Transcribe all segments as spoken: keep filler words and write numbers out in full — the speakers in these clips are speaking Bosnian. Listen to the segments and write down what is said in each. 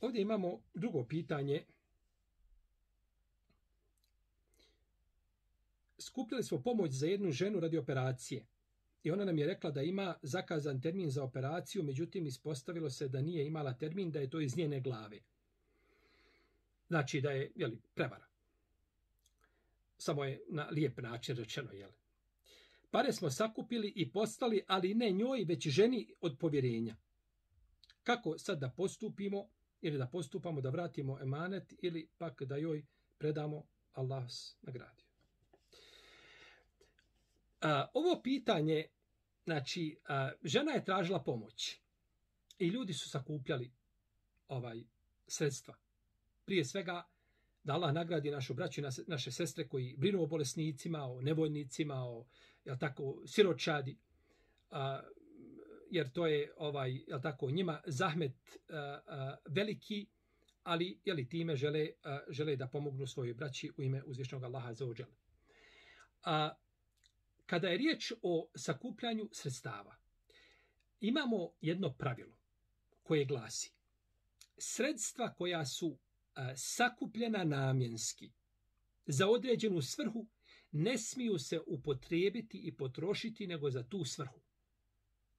ovdje imamo drugo pitanje. Skupljali smo pomoć za jednu ženu radi operacije. I ona nam je rekla da ima zakazan termin za operaciju, međutim ispostavilo se da nije imala termin, da je to iz njene glave. Znači da je, jeli, prevara. Samo je na lijep način rečeno, jeli. Pare smo sakupili i poslali, ali ne njoj, već ženi od povjerenja. Kako sad da postupimo, ili da postupamo, da vratimo emanet, ili pak da joj predamo, Allah vas nagradio. A, ovo pitanje, znači, a, žena je tražila pomoć i ljudi su sakupljali ovaj sredstva. Prije svega, da Allah nagradi našu braću i naše sestre koji brinu o bolesnicima, o nevoljnicima, o, jel tako, siročadi, a, jer to je, ovaj, jel tako, njima zahmet a, a, veliki, ali, jeli, time žele, a, žele da pomognu svojoj braći u ime uzvišnog Allaha azza wa dželle. A, Kada je riječ o sakupljanju sredstava, imamo jedno pravilo koje glasi: sredstva koja su a, sakupljena namjenski za određenu svrhu ne smiju se upotrijebiti i potrošiti nego za tu svrhu.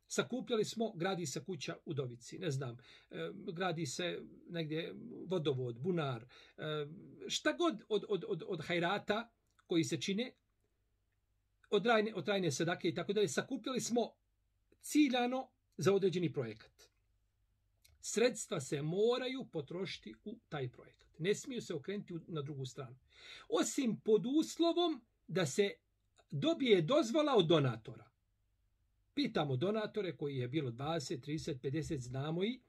Sakupljali smo, gradi se kuća u Dovici, ne znam, e, gradi se negdje vodovod, bunar, e, šta god od, od, od, od hajrata koji se čine, od trajne, od trajne sadake i tako dalje, sakupljali smo ciljano za određeni projekat. Sredstva se moraju potrošiti u taj projekat. Ne smiju se okrenuti na drugu stranu. Osim pod uslovom da se dobije dozvola od donatora. Pitamo donatore koji je bilo dvadeset, trideset, pedeset, znamo i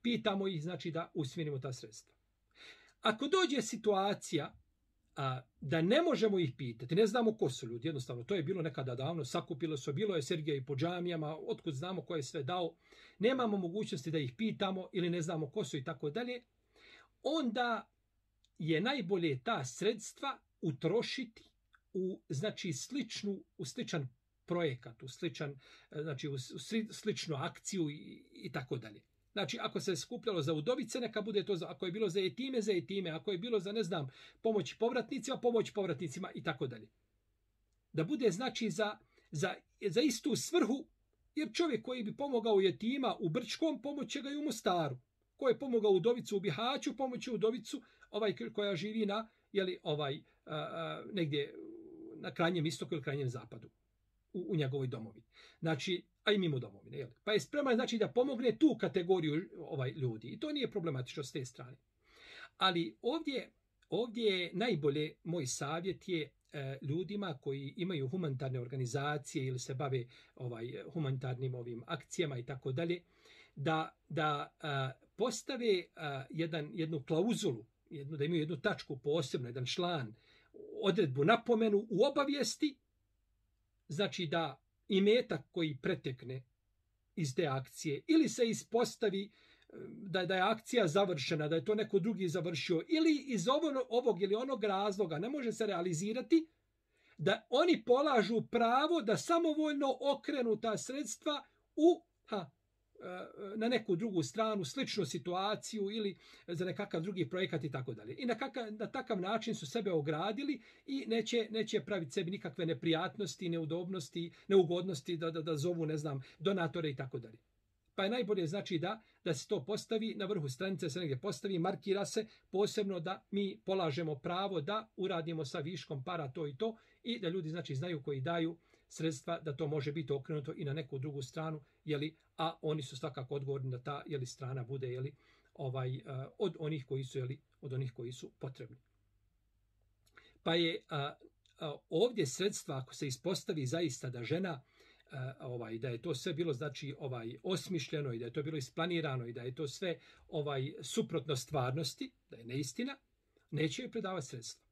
pitamo ih, znači, da usmjerimo ta sredstva. Ako dođe situacija a, da ne možemo ih pitati, ne znamo ko su ljudi, jednostavno, to je bilo nekada davno, sakupilo se, bilo je Sergija i po džamijama, otkud znamo ko je sve dao, nemamo mogućnosti da ih pitamo ili ne znamo ko su i tako dalje, onda je najbolje ta sredstva utrošiti u, znači, sličnu, u sličan projekat, u sličan, znači, u sličnu akciju i, i tako dalje. Znači, ako se je skupljalo za udovice, neka bude to, za, ako je bilo za etime, za etime, ako je bilo za, ne znam, pomoć povratnicima, pomoć povratnicima i tako dalje. Da bude, znači, za, za, za istu svrhu, jer čovjek koji bi pomogao etima u Brčkom, pomoće ga i u Mostaru. Ko je pomogao udovicu u Bihaću, pomoće udovicu ovaj, koja živi na, jeli, ovaj, a, a, negdje na krajnjem istoku ili krajnjem zapadu. U, u njegovoj domovi. Znači, a i mimo domovine. Jel? Pa je spreman, znači, da pomogne tu kategoriju ovaj ljudi. I to nije problematično s te strane. Ali ovdje, ovdje je najbolje, moj savjet je e, ljudima koji imaju humanitarne organizacije ili se bave ovaj humanitarnim ovim akcijama i tako dalje, da, da a, postave a, jedan, jednu klauzulu, jednu, da imaju jednu tačku posebno, jedan član, odredbu, napomenu u obavijesti, znači da imetak koji pretekne iz te akcije ili se ispostavi da, da je akcija završena, da je to neko drugi završio ili iz ovog, ovog ili onog razloga ne može se realizirati, da oni polažu pravo da samovoljno okrenu ta sredstva u, ha, na neku drugu stranu, sličnu situaciju ili za nekakav drugi projekat i tako dalje. I na, kakav, na takav način su sebe ogradili i neće, neće praviti sebi nikakve neprijatnosti, neudobnosti, neugodnosti da, da, da zovu, ne znam, donatore i tako dalje. Pa je najbolje, znači, da, da se to postavi na vrhu stranice, se negdje postavi, markira se posebno da mi polažemo pravo da uradimo sa viškom para to i to i da ljudi, znači, znaju koji daju sredstva da to može biti okrenuto i na neku drugu stranu, jeli, a oni su svakako odgovorni da ta, jeli, strana bude, jeli, ovaj, uh, od onih koji su, jeli, od onih koji su potrebni. Pa je uh, uh, ovdje sredstva, ako se ispostavi zaista da žena Uh, ovaj da je to sve bilo, znači, ovaj osmišljeno i da je to bilo isplanirano i da je to sve ovaj suprotno stvarnosti, da je neistina, neće joj predavati sredstva.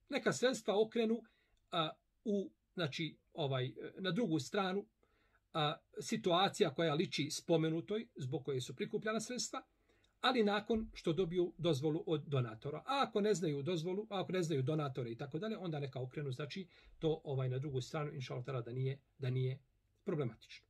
Neka sredstva okrenu uh, u, znači, ovaj na drugu stranu, uh, situacija koja liči spomenutoj zbog koje su prikupljena sredstva, ali nakon što dobiju dozvolu od donatora. A ako ne znaju dozvolu, a ako ne znaju donatore i tako dalje, onda neka okrenu, znači, to ovaj na drugu stranu, inshallah da nije da nije problematično.